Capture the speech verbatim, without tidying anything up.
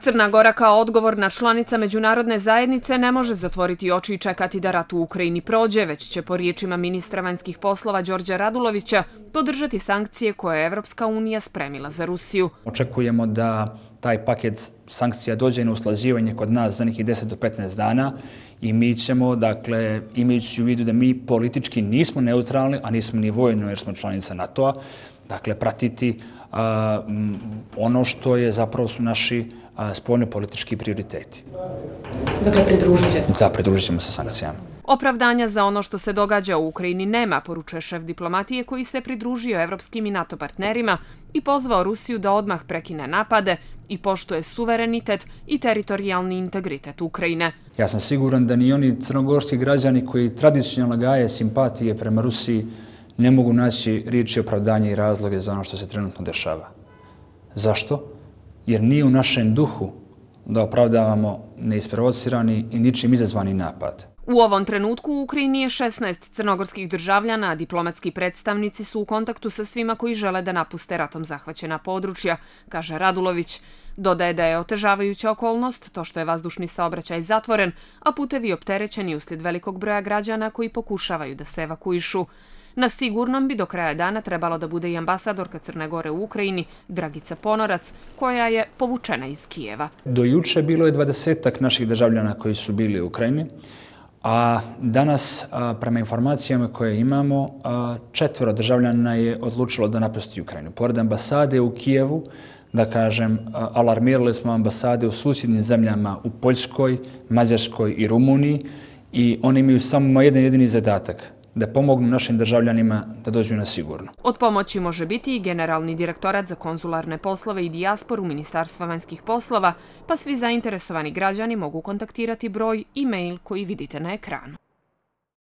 Crna Gora kao odgovorna članica međunarodne zajednice ne može zatvoriti oči i čekati da rat u Ukrajini prođe, već će po riječima ministra vanjskih poslova Đorđa Radulovića podržati sankcije koje je Evropska unija spremila za Rusiju. Očekujemo da taj paket sankcija dođe na usklađivanje kod nas za nekih deset do petnaest dana i mi ćemo, dakle, imajući u vidu da mi politički nismo neutralni, a nismo ni vojno jer smo članica NATO-a, dakle, pratiti a, m, ono što je zapravo su naši spoljno-politički prioriteti. Dakle, pridružit ćete? Da, pridružit ćemo se sankcijama. Opravdanja za ono što se događa u Ukrajini nema, poručuje šef diplomatije koji se pridružio evropskim i NATO partnerima i pozvao Rusiju da odmah prekine napade i poštuje suverenitet i teritorijalni integritet Ukrajine. Ja sam siguran da ni oni crnogorski građani koji tradicionalno gaje simpatije prema Rusiji ne mogu naći riječi opravdanja i razloge za ono što se trenutno dešava. Zašto? Jer nije u našem duhu da opravdavamo neisprovocirani i ničim izazvani napad. U ovom trenutku u Ukrajini je šesnaest crnogorskih državljana, a diplomatski predstavnici su u kontaktu sa svima koji žele da napuste ratom zahvaćena područja, kaže Radulović. Dodaje da je otežavajuća okolnost to što je vazdušni saobraćaj zatvoren, a putevi opterećeni uslijed velikog broja građana koji pokušavaju da se evakuišu. Na sigurnom bi do kraja dana trebalo da bude i ambasadorka Crne Gore u Ukrajini, Dragica Ponorac, koja je povučena iz Kijeva. Do juče bilo je dvadesetak naših državljana koji su bili u Ukrajini, a danas, prema informacijama koje imamo, četvoro državljana je odlučilo da napusti Ukrajinu. Pored ambasade u Kijevu, da kažem, alarmirali smo ambasade u susjednim zemljama u Poljskoj, Mađarskoj i Rumuniji i oni imaju samo jedan jedini zadatak, da pomognu našim državljanima da dođu na sigurno. Od pomoći može biti i Generalni direktorat za konzularne poslove i dijasporu Ministarstva vanjskih poslova, pa svi zainteresovani građani mogu kontaktirati broj i mail koji vidite na ekranu.